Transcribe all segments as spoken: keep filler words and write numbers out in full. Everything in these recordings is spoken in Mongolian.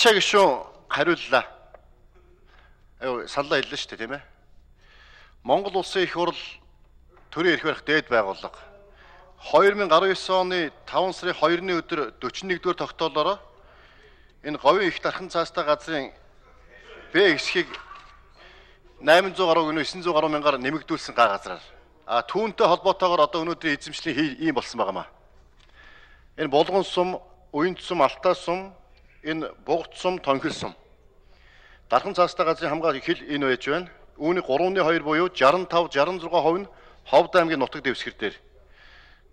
Барьцаа гишүүн хариуллаа. Аюу саналаа хэллээ шүү дээ, тийм ээ. Монгол улсын их хурл төрийн эрх барих дээд байгууллага две тысячи десять оны таван сарын хоёрны өдөр forty-one дугаар тогтоолоор энэ говийн их дархан цаастай газрын Б хэсгийг eight hundred гаруй гэнэ nine hundred гаруй мянгаар нэмэгдүүлсэн га газраар. А түүнтэй холбоотойгоор одоо өнөөдрийн эзэмшлийн ийм болсон байгаамаа. Энэ булган сум, уянд сум, алтаа сум, энэ бугт сум, тонхил сум. Дархан цаастай газрын хамгаалах хил энэ байж байна. Үүний three two буюу sixty-five sixty-six хувь нь Ховд аймгийн нутаг дэвсгэр дээр.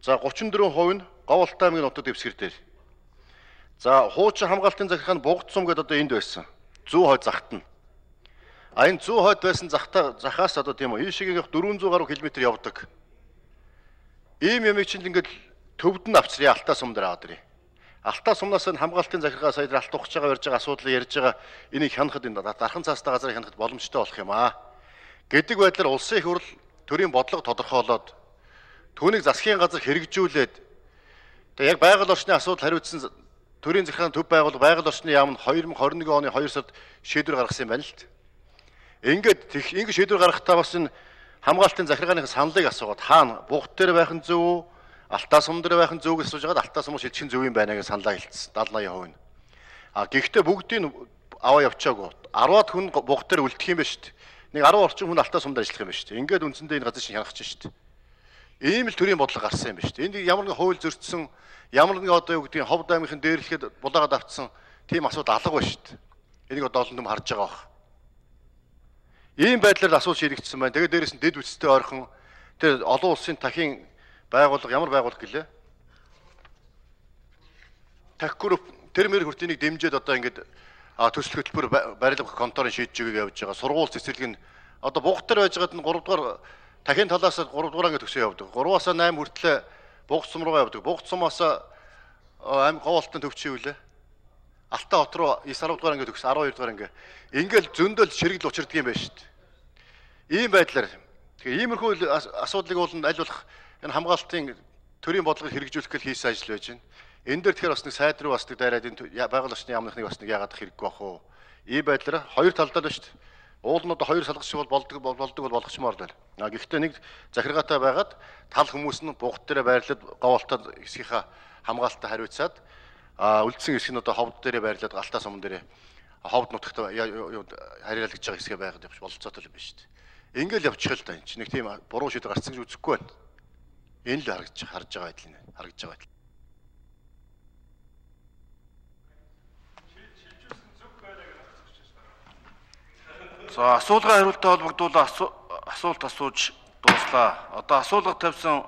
За thirty-four хувь нь Говьалтай аймгийн нутаг дэвсгэр дээр. За хуучин хамгаалтын захиргааны бугт сум гэдэг одоо энд байсан. one hundred хойд захт нь. А энэ one hundred хойд байсан захтаа захаас одоо тийм үү ийшээгийн four hundred гаруй километр явдаг. Ийм ямиг чинь ингээд төвд нь авчрын алтаа сум дээр аваад ирээ. Алтаа сумнаас нь хамгаалтын захиргаа сая алт ухаж байгаа ярьж байгаа асуудлыг ярьж байгаа энийг хянахад энэ дархан цаастай газрыг хянахад боломжтой болох юм аа. Гэдэг байдлаар улсын их хурл төрийн бодлого тодорхойлоод түүнийг засгийн газар хэрэгжүүлээд тэгээ яг байгаль орчны асуудал хариуцсан төрийн захиргааны төв байгууллага байгаль орчны яам нь twenty twenty-one оны two сард шийдвэр гаргасан юм байна л д. Ингээд тех ингэ шийдвэр гаргахтаа бас энэ хамгаалтын захиргааны саналыг асуугаад хаана бугт дээр байх нь зөв үү? Алтаа сум дээр байх нь зөв гэж асууж байгаад алтаа сум шилжих нь зөв юм байна гэж саналаа хэлсэн seventy eighty хувь нь. А гэхдээ бүгдийг аваа явчаагүй. ten хүн бугт дээр үлдэх юм байна шүү дээ. Нэг ten орчим хүн алтаа сумд ажиллах юм байна шүү дээ. Ингээд үндсэндээ энэ газар шиг хянах чинь шүү дээ. Ийм л төрлийн бодлого гарсан юм байна шүү дээ. Энд ямар нэгэн хууль зөрчсөн, ямар нэгэн одоо юу гэдгийг Ховд аймгийн дээрлэхэд булаагаад автсан тийм асуудал алга байна шүү дээ. Энийг одоо олон хүм харж байгаа бах. Ийм байдлаар асуулт шийдэгдсэн байна. Тэгээд дээрээс нь дэд үстэй ойрхон тэр олон улсын дахин байгууллага ямар байгууллага гэлээ? Тахгүр тэр мэр хүртнийг дэмжиж одоо ингээд төсөл хөтөлбөр барилга конторын шийдэж өгög явж байгаа. Сургууль цэцэрлэг нь одоо бугт дээр байж байгаад нь three дугаар дахин талаас three дугаар ингээд төсөө явдаг. three-аас eight хүртлээ бугт сум руугаа явдаг. Бугт сумаас аим Говьалтын төвчөө үлээ. Алтаа хот руу nine дугаар ингээд төгс twelve дугаар ингээд ингээл зөндөл ширэгэл учирдаг юм байна шүү дээ. Ийм байдлаар тэгээ иймэрхүү асуудлыг бол аль болох энэ хамгаалтын төрийн бодлогыг хэрэгжүүлэх гэж хийсэн ажил байж байна. Энэ дээр тэгэхээр бас нэг сайд руу бас нэг дайраад энэ байгаль орчны яамнахныг бас нэг яагаад хэрэггүй бах уу? Ийм байдлаар хоёр талдаа л шүү дээ. Уулнууд хоёр салгах шиг бол болдог болдог бол болгочмоор байна. А гэхдээ нэг захиргаатай байгаад тал хүмүүс нь бугт дээр байрлаад Говьалтай хэсгийнхаа хамгаалтаа хариуцаад а үлдсэн хэсэг нь одоо Ховд дээрээ байрлаад алтаа сум дээрээ Ховд нутагт харьяалагдж байгаа хэсгээ байгаад явж бололцоотой юм байна шүү дээ. Ингээл явчих л да энэ чинь нэг тийм буруу шийдвэр гарцсан гэж үзэхгүй байна. Энэ л харагдаж харж байгаа байдал нэ харагдаж байгаа байдал. За асуулгын хариултаа холбогдуулан асуулт асууж дууслаа. Одоо асуулга тавьсан